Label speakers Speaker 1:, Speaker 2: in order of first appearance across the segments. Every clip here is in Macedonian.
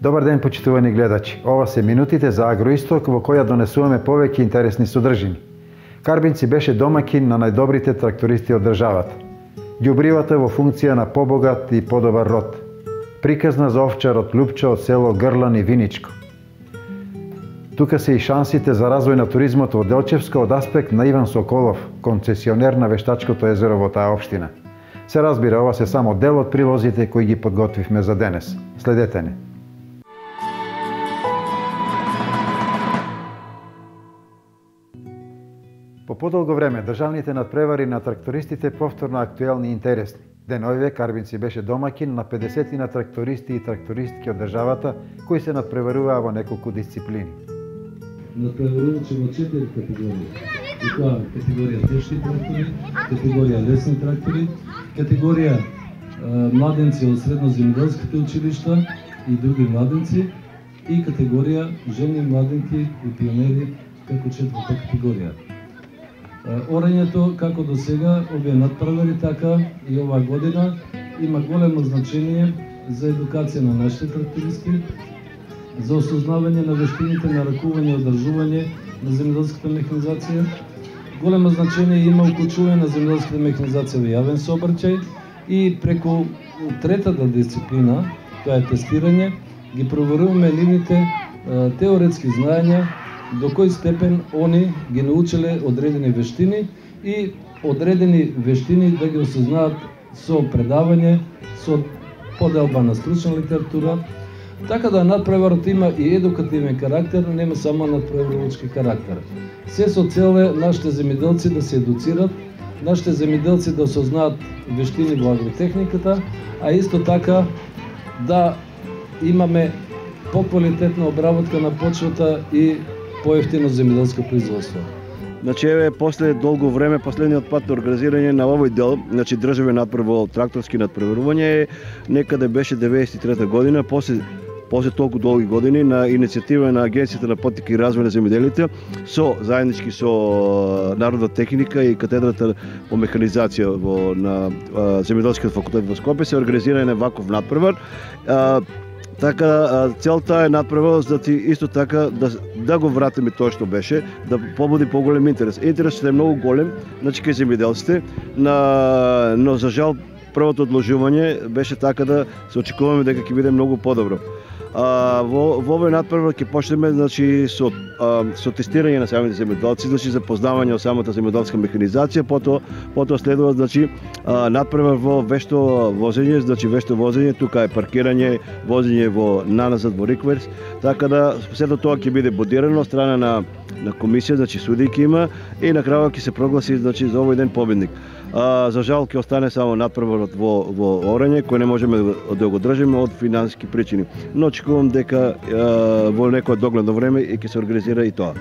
Speaker 1: Добар ден, почитувани гледачи. Ова се минутите за Агроисток во која донесуваме повеќе интересни содржини. Карбинци беше домакин на најдобрите трактористи од државата. Ѓубривата во функција на побогат и подобар род. Приказна за овчарот Лупчо од село Грлан и Виничко. Тука се и шансите за развој на туризмот во Делчевска од аспект на Иван Соколов, концесионер на Вештачкото езеро во таа општина. Се разбира, ова се само дел од прилозите кои ги подготвивме за денес. Следете не. По подолго време, државните надпревари на трактористите повторно актуелни и интересни. Деновиве Карбинци беше домакин на 50 на трактористи и трактористки од државата кои се надпреваруваа во неколку дисциплини.
Speaker 2: Надпреварувачи во 4 категории. И тоа категорија тешки трактори, категорија лесни трактори, категорија младенци од средноземјоделските училишта и други младенци и категорија жени, младенки и пионери како четврта категорија. Орањето, како до сега, овие надпревари, така и оваа година, има големо значение за едукација на нашите трактористи, за осознавање на вештините на ракување и одржување на земјоделската механизација. Големо значение има уклучување на земјоделската механизација во јавен сообраќај и преку третата дисциплина, тоа е тестирање, ги проверуваме нивните теоретски знаења, до кој степен они ги научиле одредени вештини и одредени вештини да ги осознаат со предавање, со поделба на стручна литература. Така да надпреварот има и едукативен карактер, нема само надпреварувачки карактер. Се со цел е нашите земјоделци да се едуцират, нашите земјоделци да осознаат вештини во агротехниката, а исто така да имаме поквалитетна обработка на почвата и поевтино земјоделско производство.
Speaker 3: Значи, еве, после долго време, последниот пат организирање на овој дел, значи државен надпревар, тракторски надпреварување, некаде беше 93 година, после толку долги години, на иницијатива на Агенцијата на поттика и развој на земјоделите, заеднички со Народна техника и катедрата по механизација на земјоделскиот факултет во Скопје се организира еден ваков надпревар. Така, целта е надпреварот, значи исто така да го вратиме тоа што беше, да побуди поголем интерес. Интересот е многу голем, значи кај земјоделците, но за жал првото одложување беше така да се очекуваме дека ќе биде многу подобро. Во овој надпревар ќе почнеме, значи со тестирање на самите земјоделци, значи запознавање од самата земјоделска механизација, потоа следува, значи надпревар во вешто возење, значи вешто возење, тука е паркирање, возење наназад во рикверс, така да сето тоа ќе биде бодирано од страна на комисија, значи суди ќе има и на крајот ќе се прогласи, значи за овој ден победник. За жал ќе остане само надпреварот во орање, кој не можеме да го држиме од финансиски причини. Но очекувам дека во некое догледно време ќе се организира и тоа.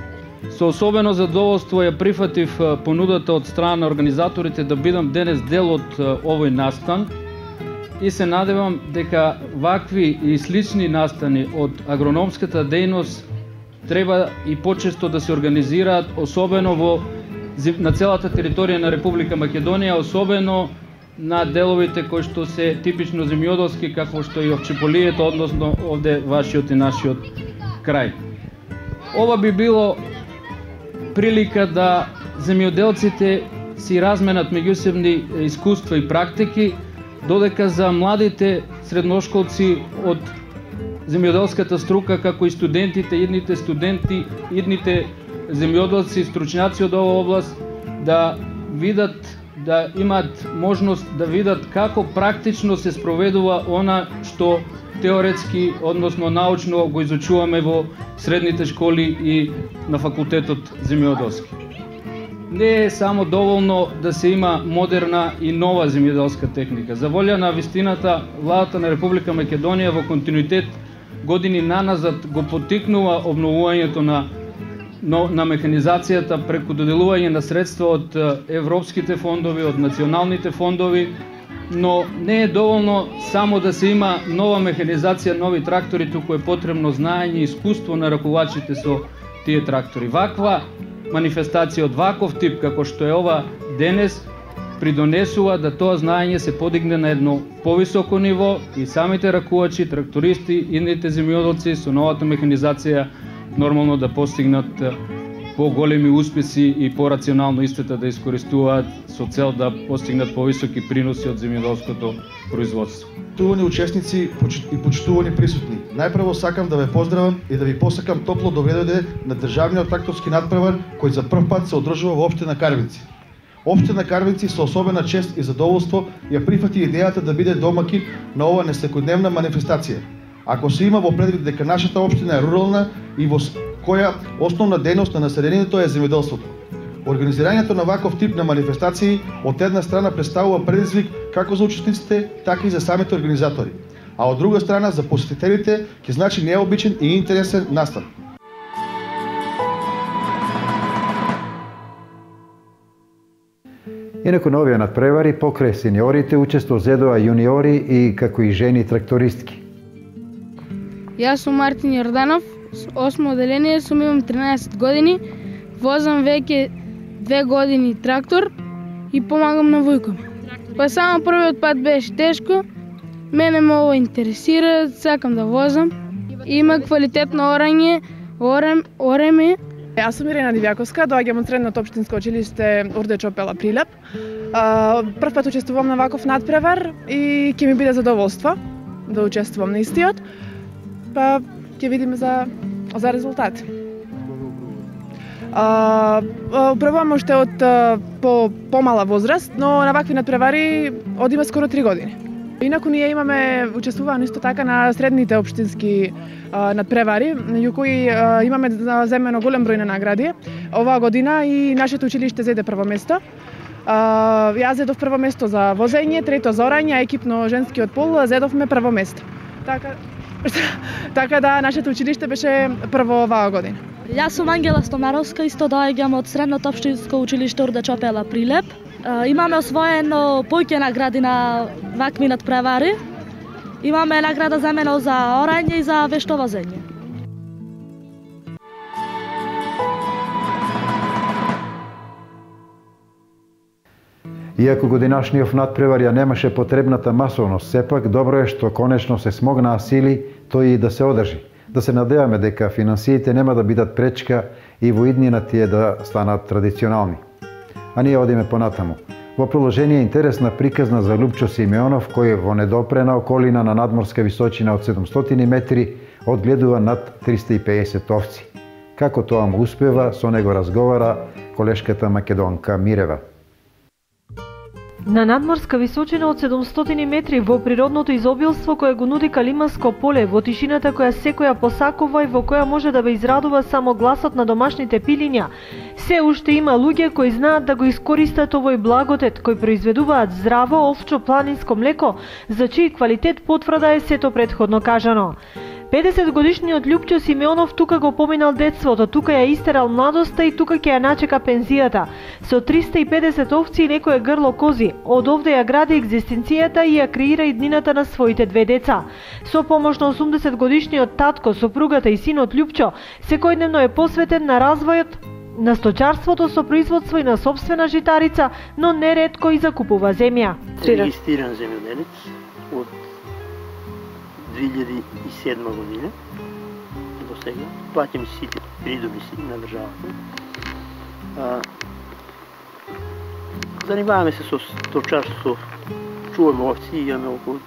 Speaker 4: Со особено задоволство ја прифатив понудата од страна на организаторите да бидам денес дел од овој настан и се надевам дека вакви и слични настани од агрономската дејност треба и почесто да се организираат, особено на целата територија на Република Македонија, особено на деловите кои што се типично земјоделски, како што и овчеполието, односно овде вашиот и нашиот крај. Ова би било прилика да земјоделците си разменат меѓусебни искуства и практики, додека за младите средношколци од земјоделската струка, како и студентите, идните студенти, идните земјоделци, стручњаци од оваа област, да видат, да имаат можност да видат како практично се спроведува она што теоретски, односно научно го изучуваме во средните школи и на факултетот земјоделски. Не е само доволно да се има модерна и нова земјоделска техника. За волја на вистината, владата на Република Македонија во континуитет години наназад го поттикнува обновувањето на механизацијата преку доделување на средства од европските фондови, од националните фондови, но не е доволно само да се има нова механизација, нови трактори, туку е потребно знаење и искуство на ракувачите со тие трактори. Ваква манифестација од ваков тип, како што е ова денес, придонесува да тоа знаење се подигне на едно повисоко ниво и самите ракувачи, трактористи, идните земјоделци со новата механизација нормално да постигнат поголеми успеси и порационално истата да искористуваат со цел да постигнат повисоки приноси од земјоделското производство.
Speaker 5: Почитувани учесници и почитувани присутни, најпрво сакам да ве поздравам и да ви посакам топло добре дојде на државниот тракторски надпревар кој за прв пат се одржува во општина Карвинци. Општина Карвинци со особена чест и задоволство ја прифати идејата да биде домакин на ова несекојдневна манифестација. Ако се има во предвид дека нашата општина е рурална и во која основна дејност на населението е земјоделството. Организирањето на ваков тип на манифестации од една страна представува предизвик како за учесниците, така и за самите организатори, а од друга страна за посетителите ќе значи необичен и интересен настан.
Speaker 1: Инаку на овие надпревари покрај сениорите учество зедоа јуниори и како и жени трактористки.
Speaker 6: Јас сум Мартин Јорданов, 8 оделение, сум имам 13 години, возам веќе 2 години трактор и помагам на Војко. Па само првиот пат беше тешко, мене ме ова интересира, сакам да возам. Има квалитетно орање, ореме.
Speaker 7: Јас сум Ирена Дивјаковска, доаѓам од средното општинско училиште Урде Чопела Прилеп. Прв пат учествувам на ваков надпревар и ќе ми биде задоволство да учествувам на истиот. Па ќе видиме за резултат. Управувам уште од помала возраст, но на вакви надпревари одиме скоро 3 години. Инаку ние имаме учествувано исто така на средните општински надпревари, меѓу кои имаме земено голем број на награди. Оваа година и нашето училиште зеде прво место. Јас зедов прво место за возење, трето за орање, а екипно женскиот пол зедовме прво место. Така да нашето училиште беше прво оваа година.
Speaker 8: Јас сум Ангела Стомаровска, исто доаѓам од средното општинско училиште Урде Чопела Прилеп. Имаме освоено повеќе награди на вакви надпревари. Имаме награда земено за орање и за вешто возење.
Speaker 1: Иако годинашниот надпревар ја немаше потребната масовност, сепак добро е што конечно се смогнаа сили тој и да се одржи. Да се надеваме дека финансиите нема да бидат пречка и во иднина тие да станат традиционални. А ние одиме понатаму. Во приложение интересна приказна за Лупчо Симеонов, кој во недопрена околина на надморска височина од 700 метри одгледува над 350 овци. Како тоа му успева, со него разговара колешката македонка Мирева.
Speaker 9: На надморска височина од 700 метри во природното изобилство кое го нуди Калиманско поле, во тишината која секоја посакува и во која може да ве израдува само гласот на домашните пилиња, се уште има луѓе кои знаат да го искористат овој благодет, кои произведуваат здраво овчо планинско млеко, за чиј квалитет потврда е сето претходно кажано. 50 годишниот Лупчо Симеонов тука го поминал детството, тука ја истерал младоста и тука ќе ја начека пензијата. Со 350 овци и некое грло кози, од овде ја гради екзистенцијата и ја креира иднината на своите 2 деца. Со помош на 80 годишниот татко, сопругата и синот Лупчо, секојдневно е посветен на развојот на сточарството со производство и на собствена житарица, но неретко и закупува земја.
Speaker 10: Регистриран земјоделец од 2007 година до сега. Платим сите придоби на државата. Занимаваме се со сточарство, чуваме овци, имаме околу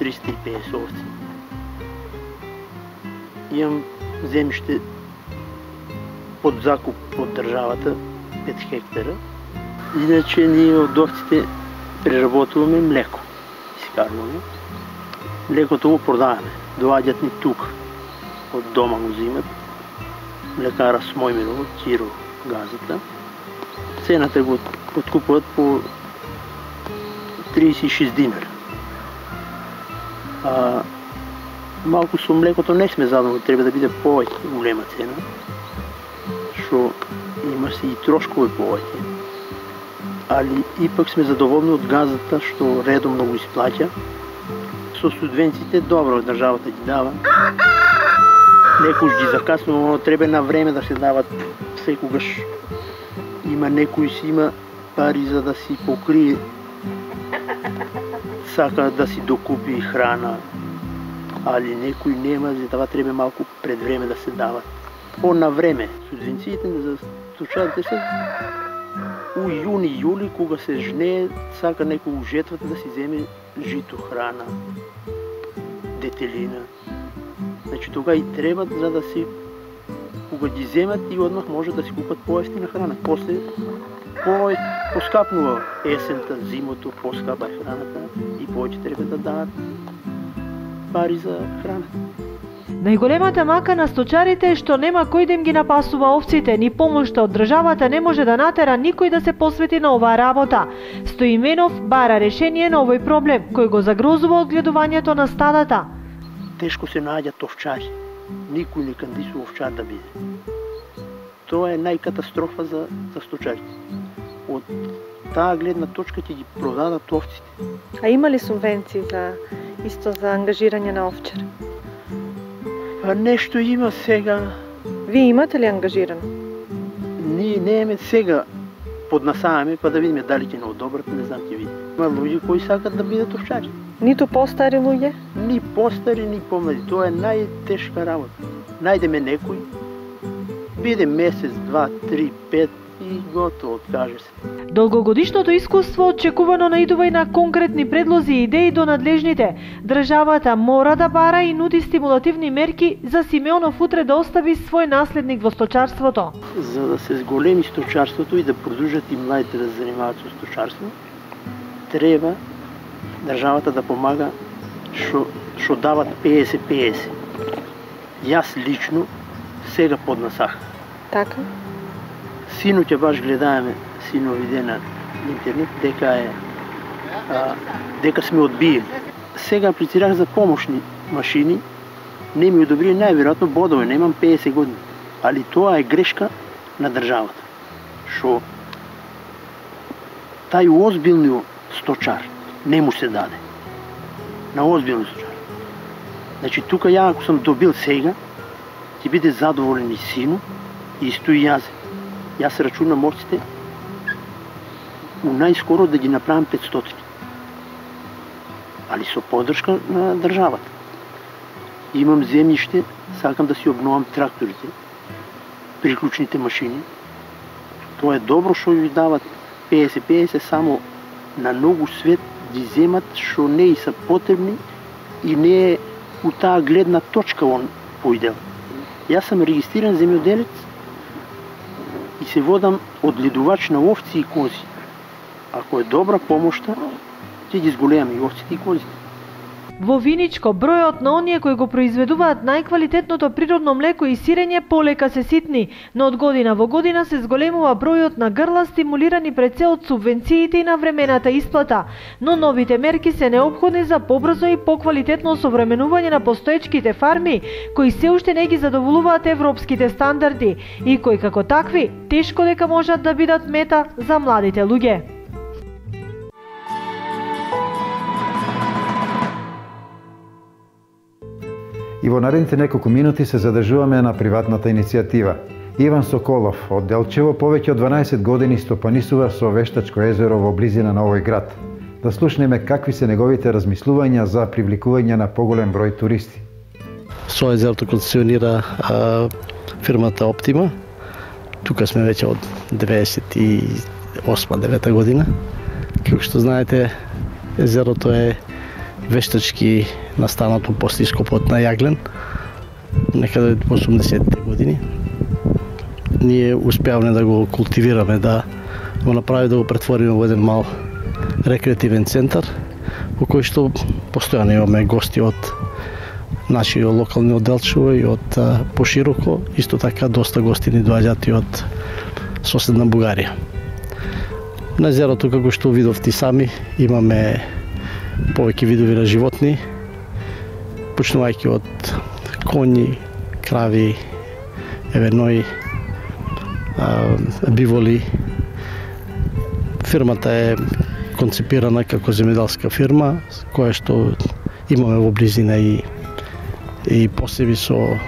Speaker 10: 350 овци. Имам земјиште под закуп од државата 5 хектара. Иначе ние од овците преработуваме млеко, искарваме. Млекото го продаваме, доаѓат ни тука, од дома го зимат, млекара Смојмирово, Ќиро газата. Цената го откупуват по 36 динара. Малку со млекото не сме задоволни, треба да биде повеќе голема цена, што има се и трошкови повеќе. Али ипак сме задоволни од газата што редовно го исплаќа. Со субвенциите добро државата ги дава. Некојаш ги закаснува, но треба на време да се дават секогаш. Има некои си има пари за да си покрие, сака да си докупи храна, али некој нема, за това треба малку пред време да се дават. На време, субвенциите за сточарите се у јуни, јули, кога се жне, сака некој у жетвата да си земе жито, храна, детелина. Значи тога и треба за да си, кога ги земат и одмах може да си купат поевтина храна. После поскапнува есента, зимото, поскапа храната и повеќе треба да дадат пари за храна.
Speaker 9: Најголемата мака на сточарите е што нема кој да им ги напасува овците, ни помошта од државата не може да натера никој да се посвети на оваа работа. Стоименов бара решение на овој проблем, кој го загрозува одгледувањето на стадата.
Speaker 10: Тешко се наоѓаат овчари. Никој не кандидува овчар да биде. Тоа е најкатастрофа за сточарите. Од таа гледна точка ќе ги продадат овците.
Speaker 9: А има ли субвенции исто за ангажирање на овчар?
Speaker 10: Нешто има сега.
Speaker 9: Вие имате ли ангажирано?
Speaker 10: Ние нееме сега поднасаваме, па да видиме дали ќе не одобрат, не знам, ќе видиме. Има луѓе кои сакат да бидат овчари.
Speaker 9: Ниту постари луѓе?
Speaker 10: Ни постари, ни помлади. Тоа е најтешка работа. Најдеме некој, биде месец, 2, 3, 5 и готово, откаже се.
Speaker 9: Долгогодишното искуство очекувано наидува и на конкретни предлози и идеи до надлежните. Државата мора да бара и нуди стимулативни мерки за Симеонов утре да остави свој наследник во сточарството.
Speaker 10: За да се зголеми сточарството и да продолжат и младите да се занимаваат со сточарство, треба државата да помага што дават 50-50. Јас лично сега поднасах.
Speaker 9: Така?
Speaker 10: Синоќа баш гледаме синови на интернет дека сме одбиени. Сега аплицирах за помошни машини, не ми одобри најверојатно бодове, немам 50 години. Али тоа е грешка на државата. Што тај озбилни сточар не му се даде. На озбилни сточар. Значи тука ја ако сум добил сега, ќе биде задоволен и сино, и исто и јас. Јас рачунам овците у најскоро да ги направам 500. Али со поддршка на државата. Имам земјиште, сакам да си обновам тракторите, приклучните машини. Тоа е добро што ви дават 50-50, само на многу свет ги земат што не и са потребни и не е у таа гледна точка он поидел. Јас сам регистриран земјоделец и се водам одгледувач на овци и кози. Ако е добра помошта, ќе ги зголемаме и овците и козите.
Speaker 9: Во Виничко, бројот на оние кои го произведуваат најквалитетното природно млеко и сирење полека се ситни, но од година во година се зголемува бројот на грла стимулирани пред се од субвенциите и навремената исплата, но новите мерки се неопходни за побрзо и поквалитетно современување на постоечките фарми, кои се уште не ги задоволуваат европските стандарди и кои како такви тешко дека можат да бидат мета за младите луѓе.
Speaker 1: И во наредните неколку минути се задржуваме на приватната иницијатива. Иван Соколов од Делчево повеќе од 12 години стопанисува со вештачко езеро во близина на овој град. Да слушнеме какви се неговите размислувања за привлекување на поголем број туристи.
Speaker 11: Со езерото концесионира фирмата Оптима. Тука сме веќе од 98-9 година. Како што знаете, езерото е вештачки настанато после ископот на Јаглен, некаде во 80-те години. Ние успеавме да го култивираме, да го направиме, да го претвориме во еден мал рекреативен центар, во кој што постојано имаме гости од нашиот локални од Делчево и од пошироко, исто така доста гости ни доаѓаат и од соседна Бугарија. На езерото, како што видовте сами, имаме повеќе видови на животни, почнувајќи од коњи, крави, евенои, биволи. Фирмата е концепирана како земјоделска фирма, која што имаме во близина и посеби со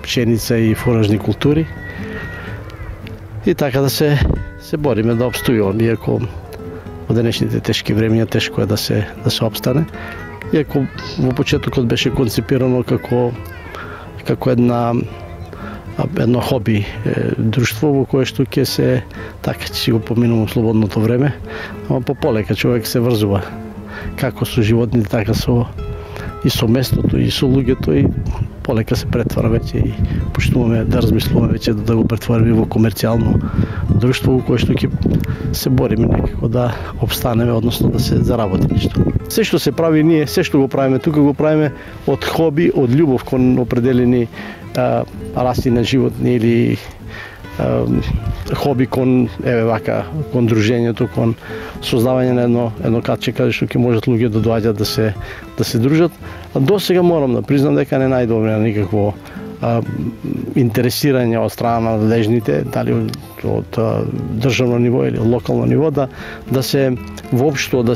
Speaker 11: пшеница и фуражни култури. И така да се се бориме да обстојуваме, иако во денешните тешки времиња тешко е да се обстане. Иако во почетокот беше концепирано како едно хоби друштво во кое што ќе се така ќе си го поминувам слободното време, ама полека човек се врзува како со животните, така и со местото, и со луѓето, и полека се претвара веќе и почнуваме да размислуваме веќе да го претвориме во комерцијално друштво во кое што ќе се бориме некако да обстанеме, односно да се заработи нешто. Се што се прави ние, се што го правиме тука, го правиме од хоби, од љубов кон определени раси на животни или хоби кон кон дружењето, кон создавање на едно катче каде што ќе можат луѓе да доаѓат да се дружат. А до сега морам да признам дека не најдобре никакво интересирање од страна на надлежните, дали од државно ниво или локално ниво, да се воопшто да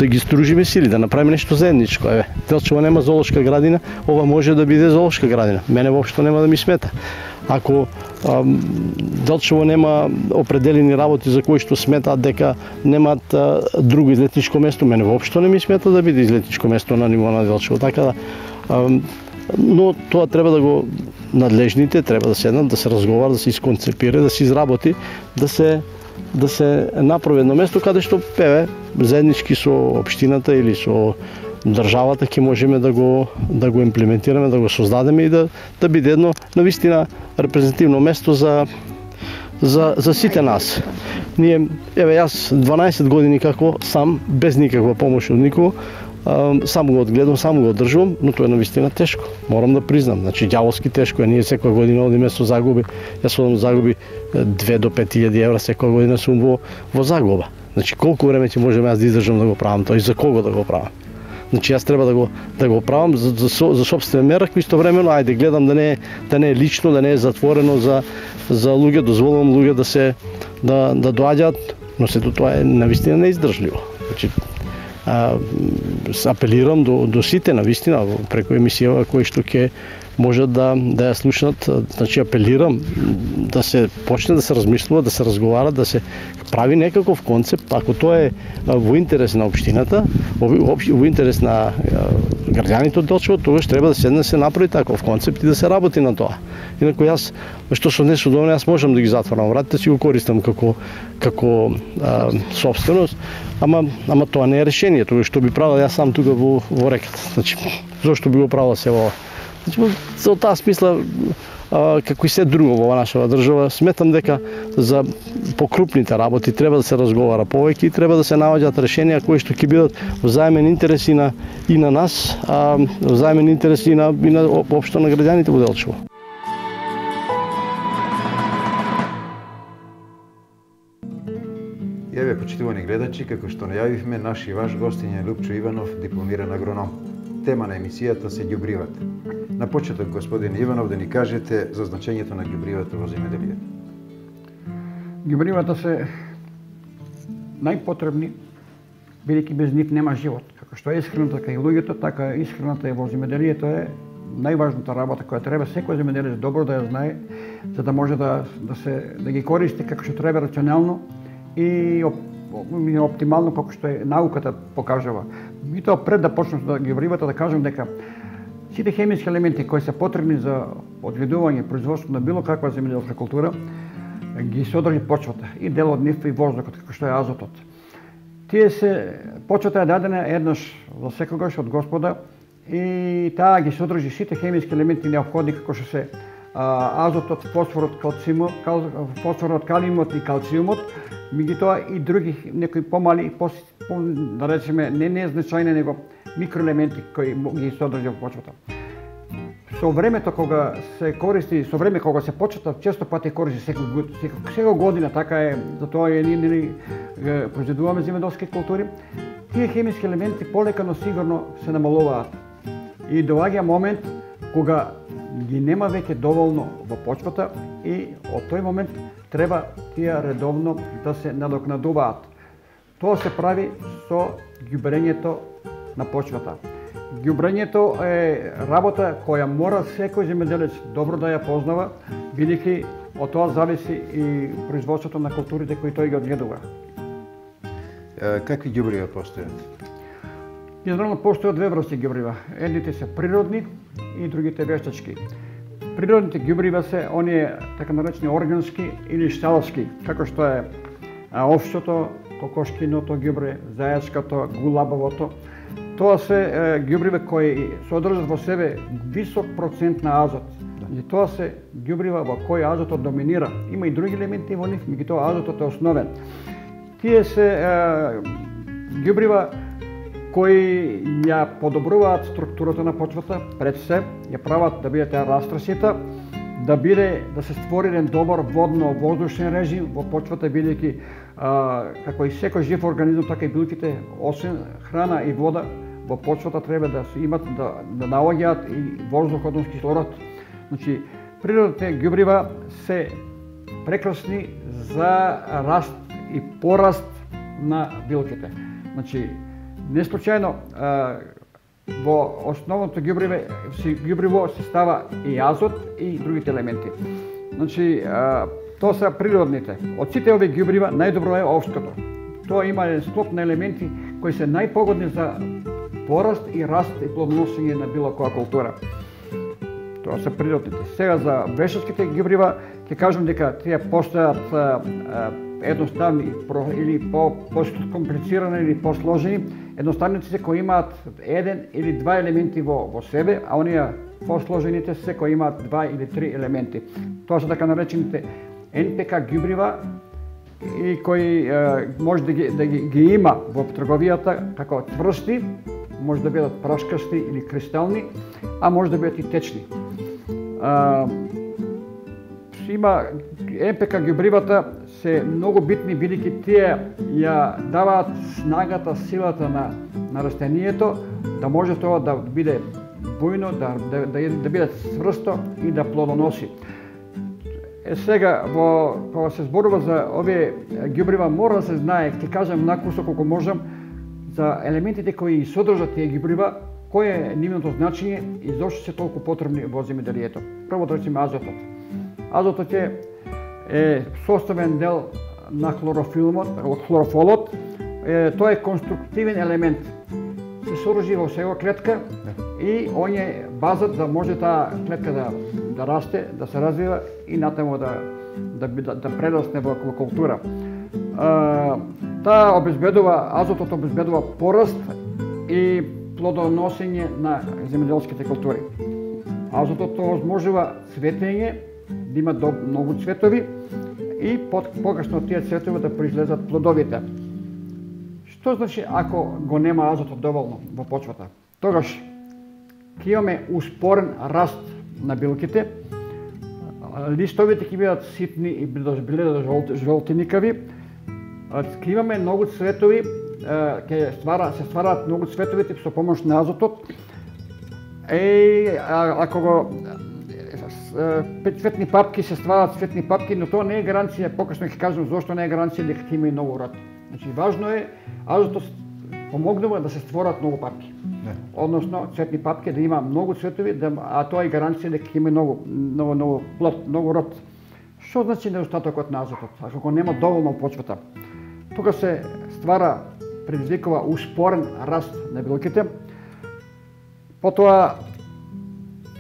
Speaker 11: ги сдружиме сили, да направиме нешто заедничко. Делчево нема зоолошка градина, ова може да биде зоолошка градина. Мене воопшто нема да ми смета. Ако Делчево нема определени работи за кои што сметаат дека немаат друго излетничко место, мене воопшто не ми смета да биде излетничко место на ниво на Делчево. Така но тоа треба да го надлежните треба да седнат, да се разговара, да се исконцепира, да се изработи, да се направи едно место каде што заеднички со општината или со државата ќе можеме да го имплементираме, да го создадеме и да биде едно навистина репрезентативно место за сите нас. Ние, јас 12 години како сам, без никаква помош од никого, само го одгледам, само го одржувам, но тоа е навистина тешко. Морам да признам, значи ѓаволски тешко е. Ние секоја година одиме со загуби. Јас одам загуби 2 до 5000 евра секоја година сум во загуба. Значи колку време ќе можам јас да издржам да го правам тоа и за кого да го правам? Значи јас треба да го правам за сопствен мерак, истовремено ајде гледам да не е лично, да не е затворено за луѓе, дозволувам луѓе да доаѓаат, но сето тоа е навистина неиздржливо. Значи апелирам до сите навистина преку емисија кои што ќе можат да ја слушнат, значи апелирам да се почне да се размислува, да се разговара, да се прави некаков концепт, ако тоа е во интерес на општината, во интерес на граѓаните од Делчево, тогаш треба да седне да се направи таков концепт и да се работи на тоа. Инаку јас, што со нешто доволно, јас можам да ги затворам вратите, си го користам како собственост, ама тоа не е решение, тоа што би правил јас сам тука во реката. Значи, зошто би го правил се ова? Значи, за таа смисла, како и се друго во нашава држава, сметам дека за покрупните работи треба да се разговара повеќе и треба да се наоѓаат решенија кои што ќе бидат взаимен интерес и на нас, взаимен интерес и на општо на граѓаните во Делчево.
Speaker 1: Еве, почитувани гледачи, како што најавивме, наш и ваш гостин е Лупчо Иванов, дипломиран агроном. Тема на емисијата се ѓубривата. На почеток, господин Иванов, да ни кажете за значењето на ѓубривата во земјоделието.
Speaker 12: Ѓубривата се најпотребни, бидејќи без нив нема живот. Како што е исхраната кај луѓето, така исхраната во земјоделието е најважната работа која треба секој земјоделец добро да ја знае, за да може да ги користи како што треба рационално и оптимално како што е науката покажува. И тоа пред да почнам да ѓубривата да кажам дека сите хемиски елементи кои се потребни за одгледување и производство на било каква земјоделска култура ги содржи почвата и дел од нив и воздухот како што е азотот. Почвата е дадена еднаш за секогаш од Господа и таа ги содржи сите хемиски елементи неопходни како што се азотот, фосфорот, калиумот и калциумот, меѓутоа и други некои помали, да речеме не незначајни, него микроелементи кои ги содржи во почвата. Со времето кога се користи, кога се почвата често пати користи секоја година, така е, затоа ние произведуваме земјоделски култури, тие хемиски елементи полека но сигурно се намалуваат. И доаѓа момент кога ги нема веќе доволно во почвата и од тој момент треба тие редовно да се надокнадуваат. Тоа се прави со ѓубрењето на почвата. Ѓубрењето е работа која мора секој земјоделец добро да ја познава, бидејќи од тоа зависи и производството на културите кои тој ги одгледува.
Speaker 1: Какви ѓубрива постојат?
Speaker 12: Генерално постојат две врсти ѓубрива. Едните се природни и другите вештачки. Природните ѓубрива се оние така наречени органски или шталски, како што е овчето, кокошкиното ѓубре, зајачкото, гулабовото. Тоа се ѓубрива кои содржат во себе висок процент на азот. И тоа се ѓубрива во кои азотот доминира. Има и други елементи во нив, меѓутоа азотот е основен. Тие се ѓубрива кои ја подобруваат структурата на почвата, пред се ја прават да биде таа растрасита, да се створи еден добар водно-воздушен режим во почвата, бидејќи како и секој жив организам, така и билките, освен храна и вода, во почвата треба да се имат да наоѓаат и воздух, односно кислород. Значи, природните ѓубрива се прекрасни за раст и пораст на билките. Значи, не случајно во основното ѓубриво се става и азот и другите елементи. Значи, тоа се природните. Од сите овие ѓубрива најдобро е овчкото. Тоа има еден склоп на елементи кои се најпогодни за пораст и раст и плодоносење на било која култура. Тоа се природните. Сега за вештачките ѓубрива ќе кажам дека тие постојат едноставни или по-комплицирани или по-сложени. Едноставните се кои имаат еден или два елементи во себе, а оние посложените се кои имаат два или три елементи. Тоа се така наречените НПК ѓубрива и кои може да ги има во трговијата како цврсти, може да бидат прашкасти или кристални, а може да бидат и течни. Има НПК ѓубривата се многу битни, бидејќи тие ја даваат снагата, силата на растението, да може тоа да биде бујно, да биде цврсто и да плодоноси. Сега, кога се зборува за овие ѓубрива, мора да се знае, ќе кажам накусо колку можам, за елементите кои содржат тие ѓубрива, кој е нивното значење и зошто се толку потребни во земјоделието. Прво да речеме азотот. Азотот е составен дел на хлорофолот. Тоа е конструктивен елемент. Се содржи во секоја клетка и он е базат да може таа клетка да расте, да се развива и натаму да прерасне во култура. Азотот обезбедува пораст и плодоносење на земјоделските култури. Азотот овозможува цветење, да има многу цветови и покасно тие цветови да произлезат плодовите. Што значи ако го нема азотот доволно во почвата? Тогаш ќе имаме успорен раст на билките, листовите ќе бидат ситни и жолтеникави, ќе имаме многу цветови, се ствараат многу цветовите со помош на азотот. Ако цветни папки се ствараат цветни папки, но тоа не е гаранција, покасно ќе кажам зошто не е гаранција дека ќе има и многу род. Значи важно е азотот помогнува да се створат многу папки. Односно цветни папки да има многу цветови, а тоа е гаранција дека ќе има многу плод, многу род. Што значи недостатокот на азотот? Ако го нема доволно во почвата, тука се предизвикува успорен раст на билките. Потоа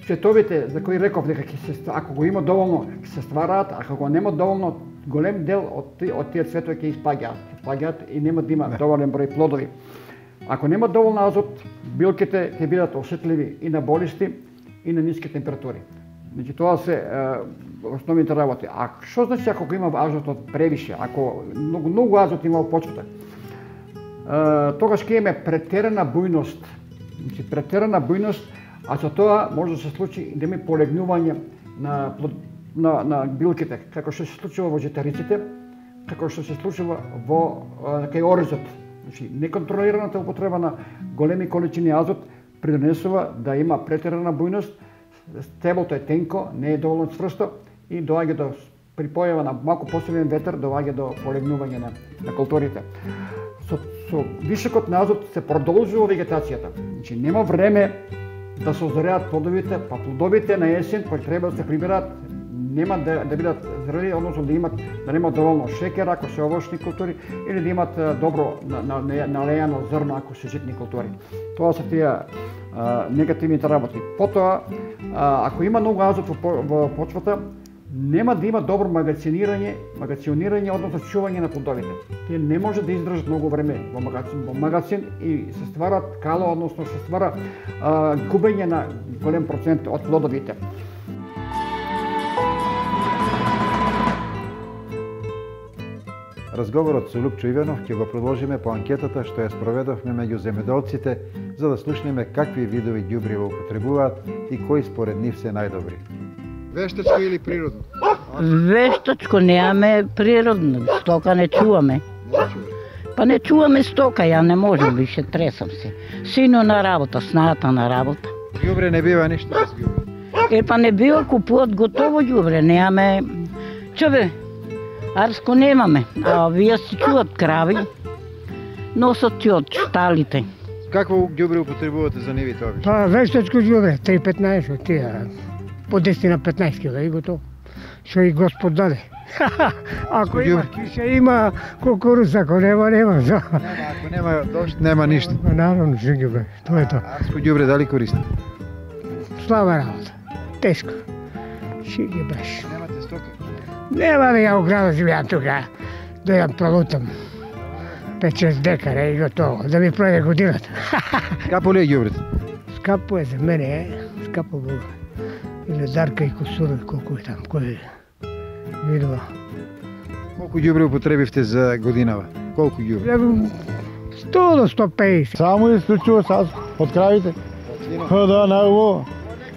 Speaker 12: цветовите за кои реков дека ако го има доволно ќе се ствараат, ако го нема доволно, голем дел од тие цветови ќе испаѓаат и нема да има доволен број плодови. Ако нема доволно азот, билките ќе бидат осетливи и на болести и на ниски температури. Значи тоа се основните работи. А што значи ако го има азотот превише, ако многу азот има во почвата? Тогаш ќе имаме претерана бујност. Значи претерана бујност, а со тоа може да се случи да има полегнување на билките, како што се случува во житариците, како што се случува кај оризот. Значи неконтролираната употреба на големи количини азот придонесува да има претерана бујност, стеблото е тенко, не е доволно цврсто и доаѓа до при појава на малку посилен ветер доаѓа до полегнување на културите. Со вишокот на азот се продолжува вегетацијата. Значи нема време да се озореат плодовите, па плодовите на есен кои треба да се прибираат нема да бидат зрели, односно да немат доволно шекер ако се овошни култури или да имат добро налејано зрно ако се житни култури. Тоа се тие негативните работи. Потоа, ако има многу азот во почвата, нема да има добро магационирање, односно чување на плодовите. Тие не може да издржат многу време во магацин и се ствара кало, односно се ствара губење на голем процент од плодовите.
Speaker 1: Разговорот со Лупчо Иванов ќе го продолжиме по анкетата што ја спроведовме меѓу земјоделците за да слушнеме какви видови ѓубриво употребуваат и кои според нив се најдобри.
Speaker 13: Вештачко или природно?
Speaker 14: Вештачко немаме, природно. Стока не чуваме. Па не чуваме стока, ја не можам више, тресам се. Сино на работа, снајата на работа.
Speaker 1: Ѓубре не бива ништо без ѓубре.
Speaker 14: Па не бива, купуват готово ѓубре, немаме. Чобе, арско немаме, а вие се чуват крави, носат ти од шталите.
Speaker 1: Какво ѓубре употребувате за нивите обично?
Speaker 15: Па вештачко ѓубре, 3,15 тие. По 10 на 15 кг и готово. Што и Господ даде. Ако има киша, има кукуруз, ако нема, нема.
Speaker 1: Ако нема дожд, нема ништо.
Speaker 15: Наравно, што ѓубре, тоа е тоа.
Speaker 1: Арско ѓубре дали користите?
Speaker 15: Слаба работа, тешко. Што ги бреш.
Speaker 1: Немате стока?
Speaker 15: Нема да ја у града живеам тука, да ја пролутам. 5-6 декара и готово, да ми пројде годината.
Speaker 1: Скапо ли е ѓубрето?
Speaker 15: Скапо е за мене, скапо Бога. Или Дарка и Косурови, колку е там, кој видува.
Speaker 1: Колку ѓубре употребивте за годинава? Колку ѓубре?
Speaker 15: 100 до 150.
Speaker 13: Само исклучува сад од кравите. Да, најубаво.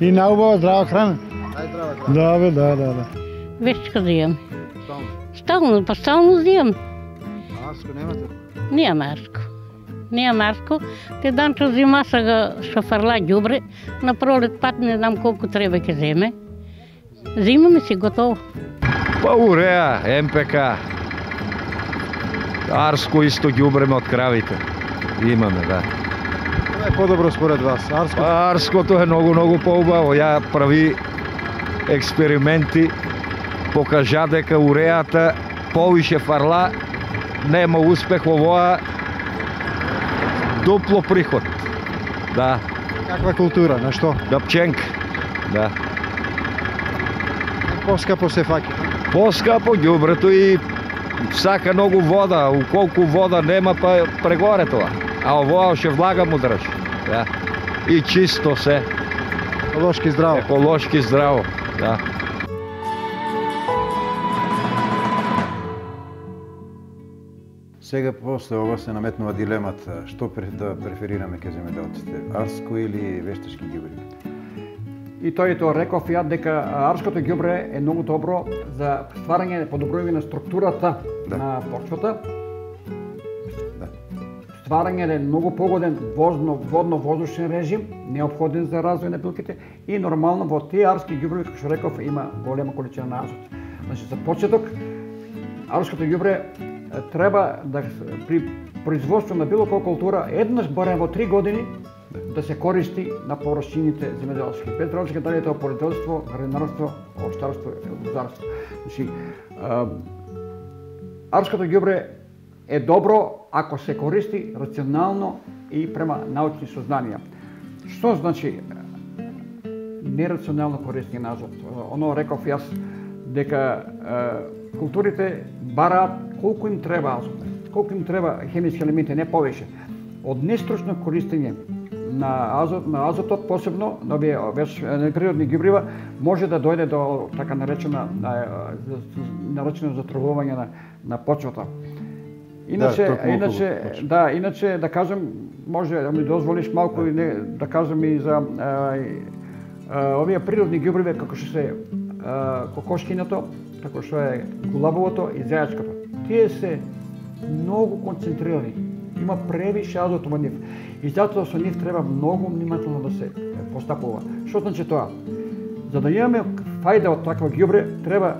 Speaker 13: И најубава здрава храна.
Speaker 1: Најздрава храна?
Speaker 13: Да.
Speaker 14: Вештачко да имам. Стално, па стално да имам.
Speaker 1: Арско немате?
Speaker 14: Немам арско. Немам арско. Те данчо зима сега што фарла ѓубре, на пролет пат не знам колку треба ќе земе. Зимаме си готово.
Speaker 16: Па уреа, МПК. Арско исто ѓубреме од кравите. Имаме, да.
Speaker 1: Тоа е подобро според вас, арско?
Speaker 16: Арското е многу поубаво. Ја прави експерименти, покажа дека уреата повише фарла, нема успех овоа, дупло приход. Да.
Speaker 1: Каква култура, на што?
Speaker 16: Да, пченка. Да.
Speaker 1: Поскапо се фаќа.
Speaker 16: Поскапо ѓубрето и сака многу вода, уколку вода нема па прегоре тоа. А овоа ше влага му држи. Да. И чисто се.
Speaker 1: Еколошки здраво.
Speaker 16: Еколошки здраво, да.
Speaker 1: Сега после ова се наметнува дилемата што да преферираме ке земјоделците, арско или вештачки ѓубри.
Speaker 12: И тој реков ја дека арското ѓубре е многу добро за стварање подобрување на структурата на почвата. Стварање е многу погоден водно-воздушен режим, неопходен за развој на билките и нормално во тие арски ѓубреви, како што реков, има голема количина на азот. Значи за почеток арското ѓубре треба да при производство на било која култура еднаш барем во 3 години да се користи на површините земјоделски. Без разлика дали е тоа полјоделство, градинарство, овощарство или лозарство. Значи арското ѓубре е добро ако се користи рационално и према научни сознанија. Што значи нерационално користење на азот? Оно реков јас дека културите бараат колку им треба азот, колку им треба хемиски елементи, не повеќе. Од нестручно користење на азотот, посебно на овие природни ѓубрива, може да дојде до така наречено затровување на почвата. Иначе да кажем, може да ми дозволиш малку да кажем и за овие природни ѓубриви како што се кокошкиното, како што е гулабовото и зајачкото. Тие се многу концентрирани. Има превише азот во нив. И затоа со нив треба многу внимателно да се постапува. Што значи тоа? За да имаме фајда од такво ѓубре, треба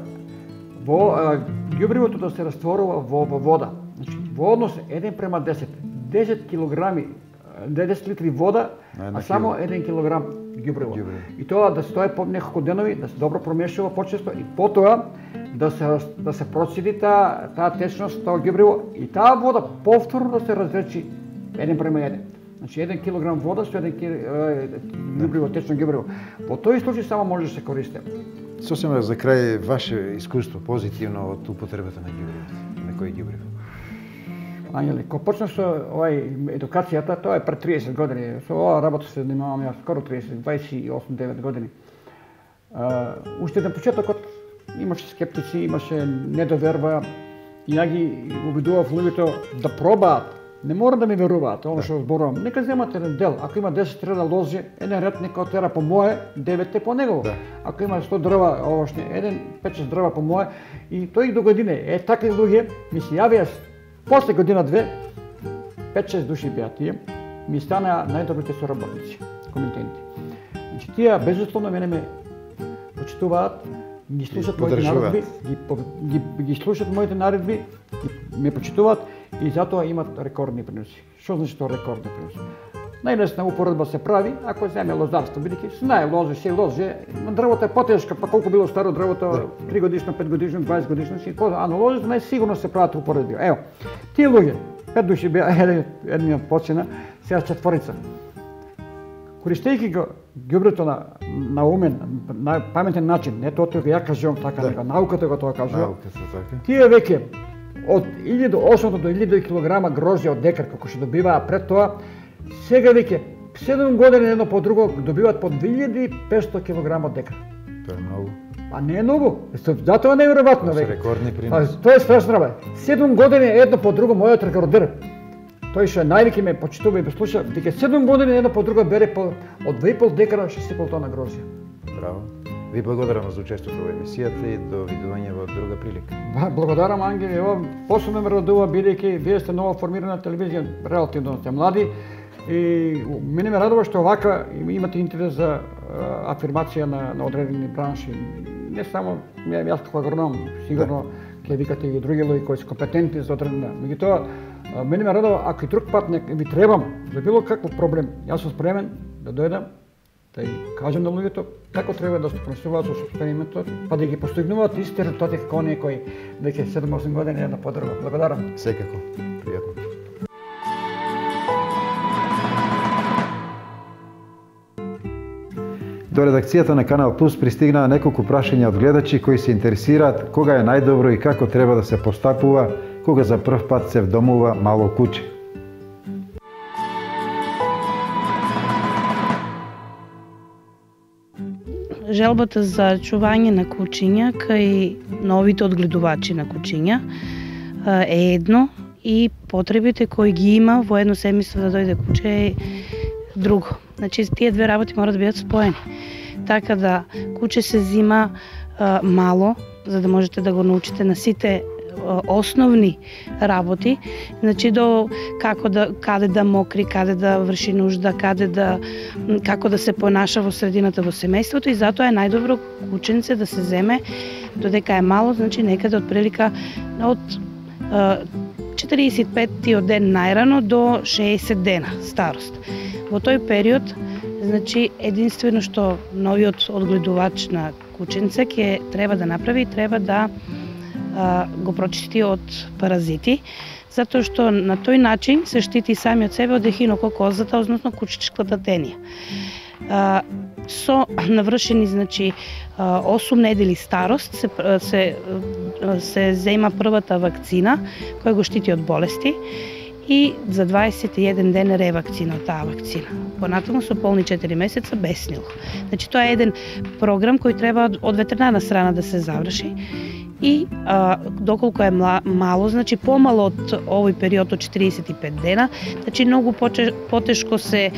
Speaker 12: ѓубривото да се растворува во вода. Значи, во однос 1:10. 10 килограми 10 литри вода, а само 1 килограм ѓубриво. И тоа да стои по неколку денови, да се добро промешува почесто и потоа да се процеди таа течност, тоа ѓубриво и таа вода повторно да се разречи 1:1. Значи 1 килограм вода со 1 ѓубриво, течно ѓубриво. Во тој случај само може да се користи.
Speaker 1: Сосема за крај ваше искуство позитивно од употребата на ѓубриво, на кој ѓубриво?
Speaker 12: Ангели, кога почнав со едукацијата, тоа е пред 30 години. Со ова работа се занимавам јас скоро 28-9 години. Уште на почетокот имаше скептици, имаше недоверба и ја ги убедував луѓето да пробаат. Не мора да ми веруваат, оно што зборувам. Нека земат еден дел. Ако има 10 трена лози, еден ред нека отера по мое, 9 по негово. Ако има 100 дрва овошни, 5-6 дрва по мое и тој до године. Такви луѓе ми се јавија после година-две, 5-6 души беа тие, ми станаа најдобрите соработници, комитенти. Значи тие безусловно мене ме почитуваат, ги слушат моите наредби, ги слушат моите наредби, ме почитуваат и затоа имат рекордни приноси. Што значи тоа рекордни приноси? Најлесна упоредба се прави ако земе лозарство, бидејќи знае лози, се лози, дрвото е потешко, па колку било старо дрвото, 3 годишно, 5 годишно, 20 годишно, а на лозите најсигурно се прават упоредби. Ево, тие луѓе, 5 души беа, едниот почина, сега 4. Користејќи го ѓубрето на умен, на паметен начин, не тоа ја кажувам така, него науката го тоа кажува. Тие веќе од 1800 до 1000 килограма грозје од декар, како што добиваа пред тоа, сега веќе 7 години едно по друго добиваат по 2500 килограма од декар.
Speaker 1: Тоа е многу.
Speaker 12: А не е многу. Затоа не е неверојатно веќе.
Speaker 1: Рекордни приноси.
Speaker 12: Тоа е страшно работа. 7 години едно по друго мојот рекордер. Тој што највеќе ме почитува и ме слуша, дека 7 години едно по друго бере од 2,5 декара 6,5 тона грозје.
Speaker 1: Браво. Ви благодарам за учеството во емисијата и до видување во друга прилика.
Speaker 12: Благодарам, Ангели. Посебно ме радува бидејќи вие сте нова формирана телевизија, релативно сте млади. И мене ме радува што вака имате интерес за афирмација на одредени бранши. Не само јас како агроном, сигурно ќе викате и други луѓе кои се компетентни за одредена. Меѓутоа, мене ме радува ако и друг пат ви требам за било каков проблем, јас сум спремен да дојдам да ја кажам на луѓето како треба да се понесуваат со експериментот, па да ги постигнуваат исти резултати како оние кои веќе 7-8 години на подруга. Благодарам.
Speaker 1: Секако. Пријатно. До редакцијата на Канал Плюс пристигнаа неколку прашања од гледачи кои се интересираат кога е најдобро и како треба да се постапува кога за прв пат се вдомува мало куче.
Speaker 17: Желбата за чување на кучиња кај новите одгледувачи на кучиња е едно и потребите кои ги има во едно семејство да дојде куче е друго. Значи, тие две работи мора да бидат споени. Така да куче се зима мало, за да можете да го научите на сите основни работи, значи до каде да мокри, каде да врши нужда, како да се понаша во средината во семејството и затоа е најдобро кученце да се земе додека е мало, значи некаде од прилика од 45-тиот ден најрано до 60 дена старост. Во тој период, значи, единствено што новиот одгледувач на кученце ќе треба да направи, треба да го прочисти од паразити, затоа што на тој начин се штити самиот себе од ехинококозата, односно кучечката тенија. Со навршени, значи, 8 недели старост се зема првата вакцина која го штити од болести и за 21 ден ревакцина од таа вакцина. Понатаму со полни 4 месеца без него. Значи тоа е еден програм кој треба од ветеринарна страна да се заврши и доколку е мало, значи помало од овој период од 45 дена, значи многу потешко се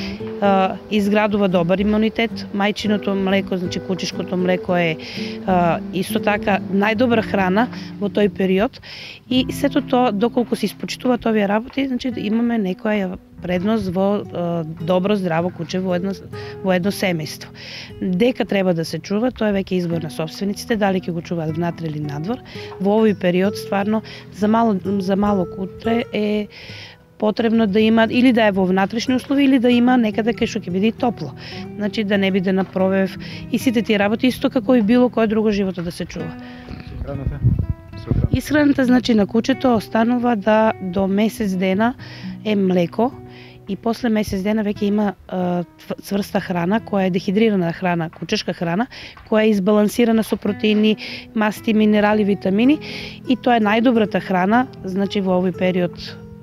Speaker 17: изградува добар имунитет. Мајчиното млеко, значи кучешкото млеко е исто така најдобра храна во тој период и сето тоа доколку се испочитуваат овие работи, значи имаме некоја предност во добро здраво куче во едно семејство. Дека треба да се чува, тоа е веќе избор на собствениците, дали ќе го чуваат внатре или надвор. Во овој период стварно за мало кутре е потребно да има или да е во внатрешни услови или да има некаде кај што ќе биде топло. Значи да не биде на пробив и сите тие работи исто како и било кој друго живото да се чува. Исхраната значи на кучето останува да до месец дена е млеко и после месец дена веќе има цврста храна која е дехидрирана храна, кучешка храна, која е избалансирана со протеини, масти, минерали, витамини и тоа е најдобрата храна, значи во овој период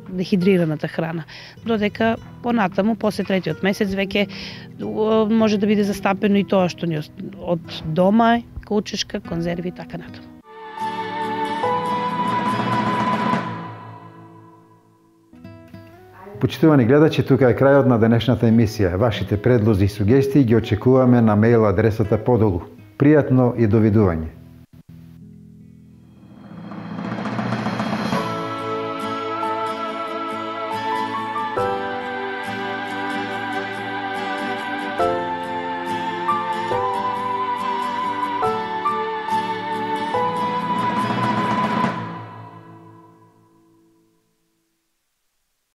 Speaker 17: дехидрираната храна. Додека понатаму, после третиот месец, веќе може да биде застапено и тоа што ни од дома, кучешка, конзерви и така натаму.
Speaker 1: Почитувани гледачи, тука е крајот на денешната емисија. Вашите предлози и сугестии ги очекуваме на мејл адресата подолу. Пријатно и довидување.